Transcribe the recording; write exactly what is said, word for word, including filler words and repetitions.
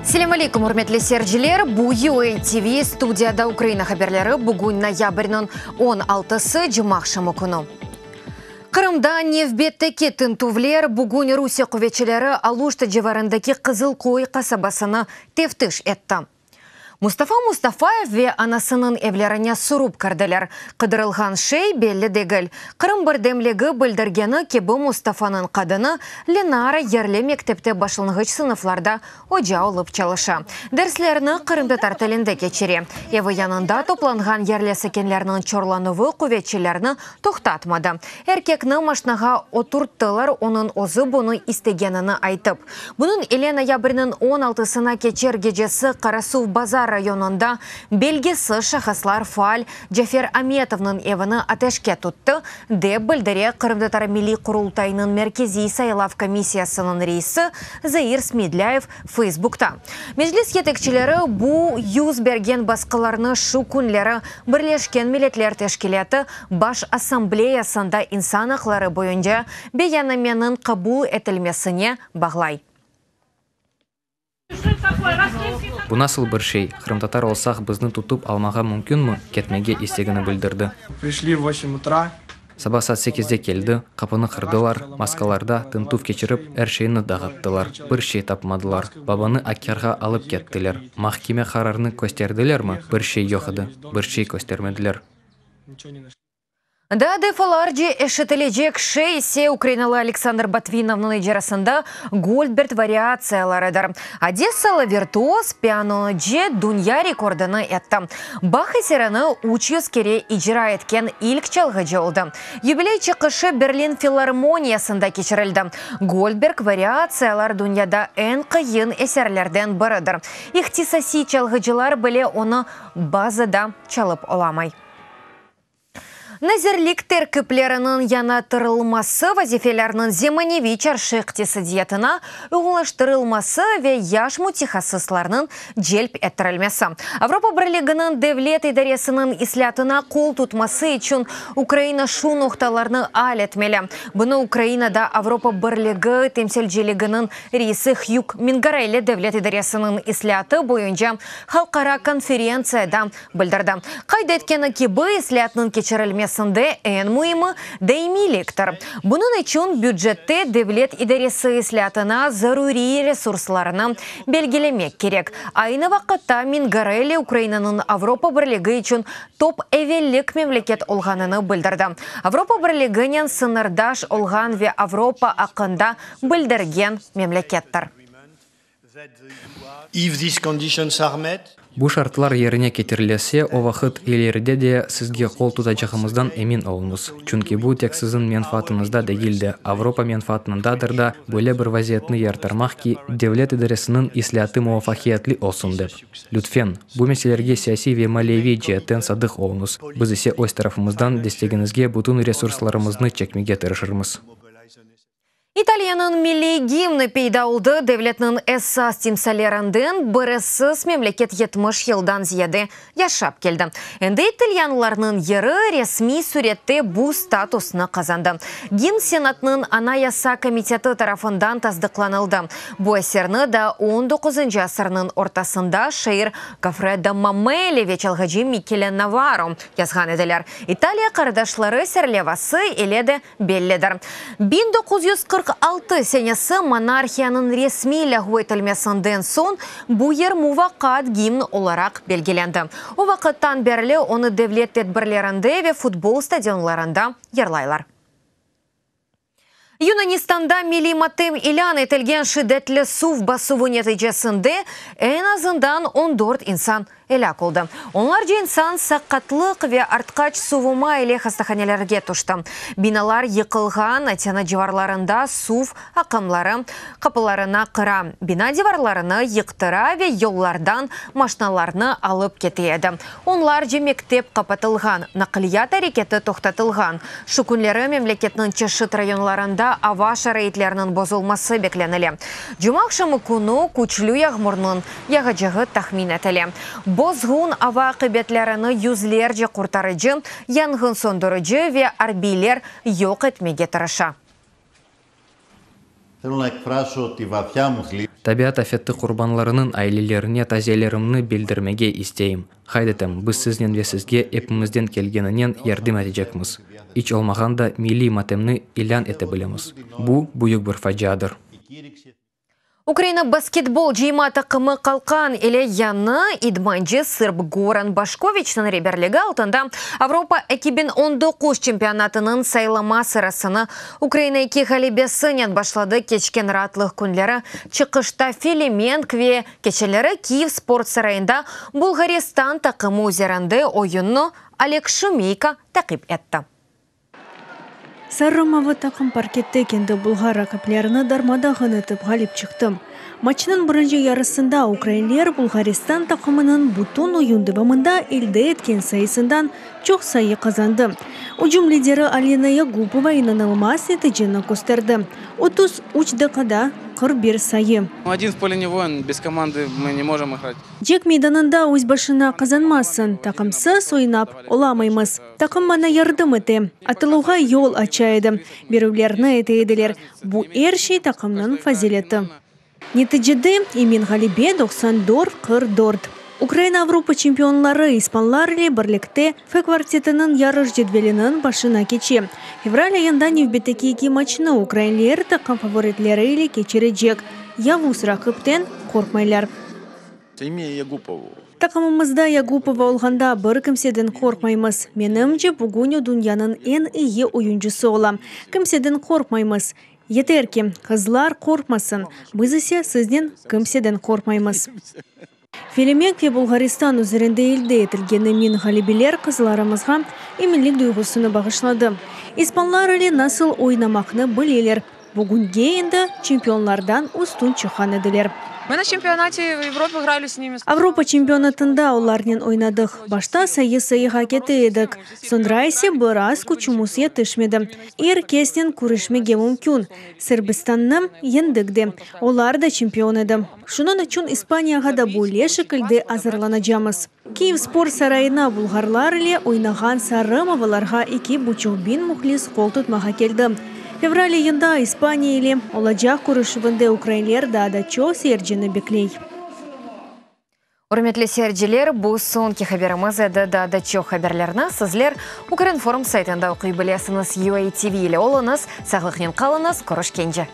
Selâm aleyküm, ürmetli seyirciler. Bu U A T V studiyada Ukraina haberleri. Bugün noyabrniñ on altısı, cumaaqşamı künü. Qırımda nevbetteki tintüvler. Bugün Rusiye quvetçileri Aluşta civarındaki Qızılköy qasabasını teftiş etti. Mustafa Mustafayev ve anasınıñ evlerine sürip kirdiler. Qıdırılğan şey belli degil. Qırım birdemligi bildirgeni kibi, Mustafanıñ qadını Lenara yerli mektepte başlanğıç sınıflarda oca olıp çalışa. Derslerni qırımtatar tilinde keçire. Evi yanında toplanğan yerli sakinlerniñ çorlanuvı quvetçilerni toqtatmadı. Erkekni maşnağa oturttılar, onıñ özü bunı istegenini aytıp. Bunıñ ile noyabrniñ on altısına keçer gecesi Qarasuvbazar rayonında belgisiz şahıslar faal Cafer Ametovnıñ evini ateşke tuttı, dep bildire Qırımtatar Milliy Qurultayınıñ Merkeziy saylav komissiyasınıñ reisi Zair Smedlâyev Facebookta. Meclis yetekçileri bu yüz bergen basqılarnı şu künleri Birleşken Milletler Teşkilâtı Baş Assambleyasında insan aqları boyunca beyannameniñ qabul etilmesine bağlay. Bu nasıl bir şey? Qırımtatar olsaq, bizni tutıp almağa mümkünmi? Ketmege istegini bildirdi. Пришли в восемь утра. Saba saat sekizde keldi, qapını qırdılar, maskalarda tintüv keçirip, er şeyni dağıttılar. Bir şey tapmadılar. Babanı Aqyarğa alıp kettiler. Mahkeme qararını kösterdilermi? Bir şey yoq edi. Bir şey köstermediler. Ничего не нашли. Daa defalarca eşitilecek şey ise ukrainalı Aleksandr Botvinovnıñ icrasında Goldberg variatsiyalarıdır. Odessalı virtuoz pianocı dünya rekordını etti. Bach eserini üç yüz kere icra etken ilk çalğıcı oldı. Yubiley çıqışı Berlin filarmoniyasında keçirildi. Goldberg variatsiyalar dünyada eñ qıyın eserlerden biridir. İhtisasiy çalğıcılar bile onı bazıda çalıp olamay. Nazirlik terkipleriniñ yañartılması, vazifelerniñ zemaneviy çarşı iqtisadiyatına uyğunlaştırılması ve yaş mütehassıslarnıñ celp ettirilmesi. Avropa Birliginiñ devlet idaresiniñ islâatına qol tutması içün Ukraina şu noqtalarnı al etmeli. Bunı Ukrainada Avropa Birligi temsilciliginiñ reisi Hüg Mingarelli devlet idaresiniñ islâatı boyunca halqara konferentsiyada bildirdi. Qayd etkeni kibi, islâatnıñ keçirilmesinde eñ müimi daimiyliktir. Bunıñ içün bücette devlet idaresi islâatına zaruriy resurslarını belgilemek kerek. Aynı vaqıtta Mingarelli Ukrainanıñ Avropa Birligi içün top evellik memleket olğanını bildirdi. Avropa Birliginen sıñırdaş olğan ve Avropa aqqında bildirgen memlekettir. If these conditions are met, Bu şartlar yerine ketirilse, o vaqıt ileride de sizge qol tutacağımızdan emin oluñız. Çünki bu tek siziñ menfaatıñızda degil de, Avropa menfaatındadır da, böyle bir vaziyetni yaratmaq ki, devlet idaresiniñ islâatı muvafaqiyetli olsun dep. Lütfen, bu meselelerge siyasiy ve maliyeviy ceetten sadıq oluñız. Biz ise öz tarafımızdan destegiñizge bütün resurslarımıznı çekmege tırışırmız. İtaliyanıñ milliy gimni peyda oldı. Devletniñ esas timsallerinden birisiz memleket yetmiş yıldan ziyade yaşap keldi. Endi italyanlarnıñ yırı resmiy sürette bu statusnı qazandı. Gimn Senatnıñ Anayasa komiteti tarafından tasdıqlanıldı. Bu eserni da on doquzıncı asırnıñ ortasında şair Goffredo Mamelli ve çalğıcı Mikele Novaro yazğan ediler. İtaliya qardaşları serlevası ile de bellidir. biñ doquz yüz qırq altı senesi monarhiyanıñ resmiy lâğu etilmesinden soñ bu yır muvaqqat gimn olaraq belgilendi. O vaqıttan berli onı devlet tedbirlerinde ve futbol stadionlarında yırlaylar. Yunanistanda milliy matem ilân etilgen. Şiddetli suv basuvı neticesinde eñ azından on dört insan elâk oldı. Onlarca insan saqatlıq ve artqaç suvuma ile hastahanelerge tüşti. Binalar yıqılğan, Atina civarlarında suv aqımları qapılarını qıra, bina divarlarını yıqtıra ve yollardan maşnalarnı alıp kete edi. Onlarca mektep qapatılğan, naqliyat areketi toqtatılğan. Şu künleri memleketniñ çeşit rayonlarında ava şaraitleriniñ bozulması beklenile. Cumaaqşamı künü küçlü yağmurnıñ yağacağı tahmin etile. Bozğun ava aqibetlerini yüzlerce qurtarıcı, yanğın söndürici ve arbiyler yoq etmege tırışa. Θέλω να εκφράσω τη βαθιά μου θλίψη. Tabiat afeti qurbanlarınıñ ailelerine taziyelerimni bildirmege isteyim. Qayd etem, biz siznen ve sizge epimizden kelgeninen yardım etecekmiz. İç olmağanda milliy matemni ilân ete bilemiz. Bu büyük bir faciadır. Ukraina basketbol cıyma taqımı Qalqan ile yañı idmancı sırb Goran Başkoviçniñ reberligi altında Avropa eki biñ on doquz çempionatınıñ saylama sırasını Ukraina eki ğalebesinen başladı. Keçken raatlıq künleri çıqışta Felemenk ve keçenleri Kiyev sport sarayında Bulğaristan taqımı üzerinde oyunnı Oleg Şumeyko taqip etti. Sarı-mavı taqım parkette kendi bulğar raqiplerini darmadağın etip ğalip çıqtı. Maçnıñ birinci yarısında ukrainler Bulğaristan taqımınıñ bütün oyun devamında elde etken sayısından çoq sayı qazandı. Ücüm lideri Alina Yagupova inanılmaz neticeni kösterdi. Otuz üç daqiqada qırq bir sayı. Один в поле не воин, без команды мы не можем играть. Cenk meydanında öz başına qazanmazsıñ, taqımsız oynap olamaymız. Taqım maña yardım ete, atıluvğa yol aça edi, berüvlerni ete ediler. Bu er şey taqımnıñ fazileti. Neticede emin ğalebe doqsan dört qırq dört. Ukraina Avropa çempionları ispanlar ile birlikte F kvartetiniñ yarış cedveliniñ başına keçe. Fevral ayında nevbetteki eki maçnı ukrainler taqım favoritleri ile keçirecek. Yavuz raqipten qorqmaylar. Taqımımızda Yagupova olğanda bir kimseden qorqmaymız. Menimce, bugün o dünyanıñ eñ eyi oyuncısı ola. Kimseden qorqmaymız. Yeter ki, qızlar qorqmasın, biz ise siznen kimseden qorqmaymız. Felemenk ve Bulğaristan üzerinde elde etilgen emin ğalebeler qızlarımızğa eminlik duyğusını bağışladı. İspanlar ile nasıl oynamaqnı bileler. Bugünge endi çempionlardan üstün çıqqan ediler. Мы на чемпионате Европы играли с ними. Avropa çempionatında olarnen oynadıq. Başta sayı sayığa kete edik. Soñra ise biraz küçümiz yetişmedi. Er kesnen küreşmege mümkün. Sırbistannı yeñdik de. Olar da çempion edi. Şunıñ içün İspaniyağa da böyle şekilde azırlanacağımız. Kiyev sport sarayına bulğarlar ile oynağan sarı-mavılarğa eki buçuq biñ mühlis qol tutmağa keldi. Fevral ayında İspaniya ile olacaq körüşüvinde ukrainler daa da çoq seyircini bekley. Ürmetli seyirciler, bu soñki haberimiz edi. Daa da çoq haberlerni sizler Ukrinform saytında oquy bilesiñiz. U A T V ile oluñız, sağlıqnen qalıñız, körüşkence.